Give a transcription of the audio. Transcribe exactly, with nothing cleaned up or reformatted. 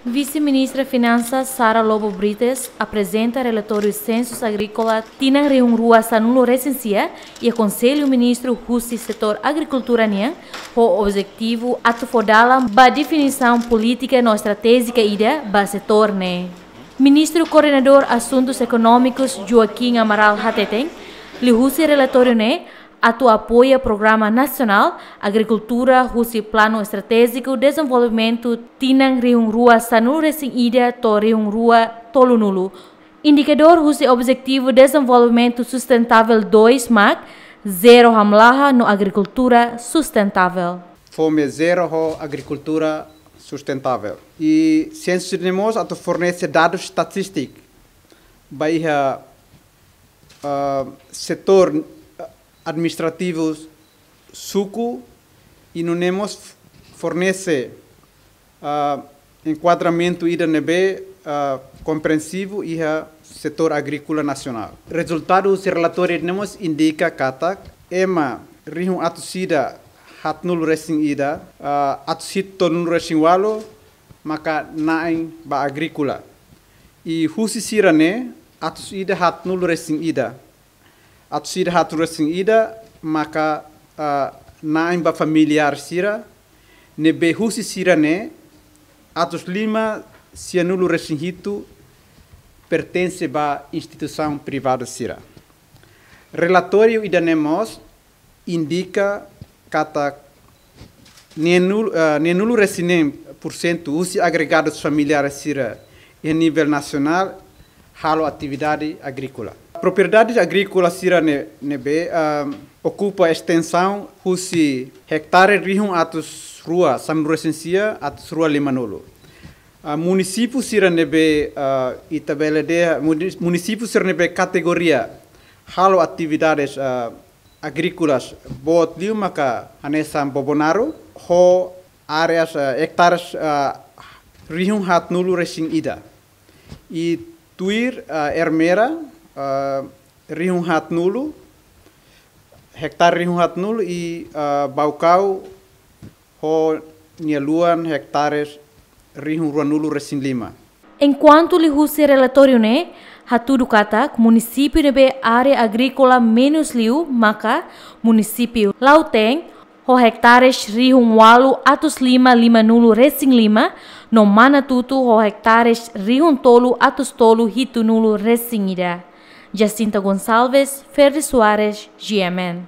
Vise-Ministra Finansas Sara Lobo Brites aprezenta relatóriu Sensus Agríkola tinan rihun rua sanulu resin sia iha Konsellu Ministru husi Setór Agrikultura nian, ho objetivu atu fó dalan ba definisaun polítika no estratéjika ida ba setór ne'e. Ministru Koordenadór Asuntus Ekonómikus Joaquim Amaral hateten, liuhusi relatóriu ne'e atu apoia programa nasionál agrikultura husi Planu Estratéjiku Dezenvolvimentu tinan rihun rua sanulu resin ida to'o rihun rua tolunulu. Indikadór husi Objetivu Dezenvolvimentu Sustentável dois mak zero hamlaha no agrikultura sustentável. Fome zero ho agrikultura sustentável. I sensus ne'e mós atu fornese dadus estatístiku ba iha, ah, setór, ah, administrativu suku, i nune'e mós fornese, ah, enkuadramentu ida ne'ebé, ah, komprensivu iha setór agríkola nasionál. Rezultadu husi relatóriu ne'e mós indika katak ema rihun atus ida haatnulu resin ida, ah, atus hitu tolunulu resin ualu maka na'in ba agríkola. I husi sira-ne'e atus ida haatnulu resin ida, atus ida haatnulu resin ida maka, ah, na'in ba familiár sira, ne'ebé husi sira-ne'e atus lima sianulu resin hitu pertense ba instituisaun privadu sira. Relatóriu ida-ne'e mós indika katak neenulu, ah, neenulu resin neen pursentu husi agregadus familiár sira iha nivel nasionál halo atividade agríkola. Propriedades agríkolas sira-ne'e, ne'ebé, ah, okupa estensaun husi ektare rihun atus rua sanulu resin sia atus rua limanulu. Ah, munisípiu sira ne'ebé, ah, ita bele dehan, muni-, munisípiu sira ne'ebé kategoria halo atividades, ah, agríkolas boot liu maka hanesan Bobonaro, ho áreas, eh, ektares, eh, rihun haatnulu resin ida. I tuir, eh, Ermera, eh, rihun haatnulu, ektare rihun haatnulu i, eh, Baucau ho nia luan ektares rihun ruanulu resin lima. Enkuantu liuhusi relatóriu ne'e hatudu katak munisípiu ne'ebé área agríkola menus liu maka munisípiu Lautém, ho ektares rihun ualu atus lima limanulu resin lima, no Manatuto ho ektares rihun tolu atus tolu hitunulu resin ida. Jacinta Gonçalves, Ferdi Soares, G M N.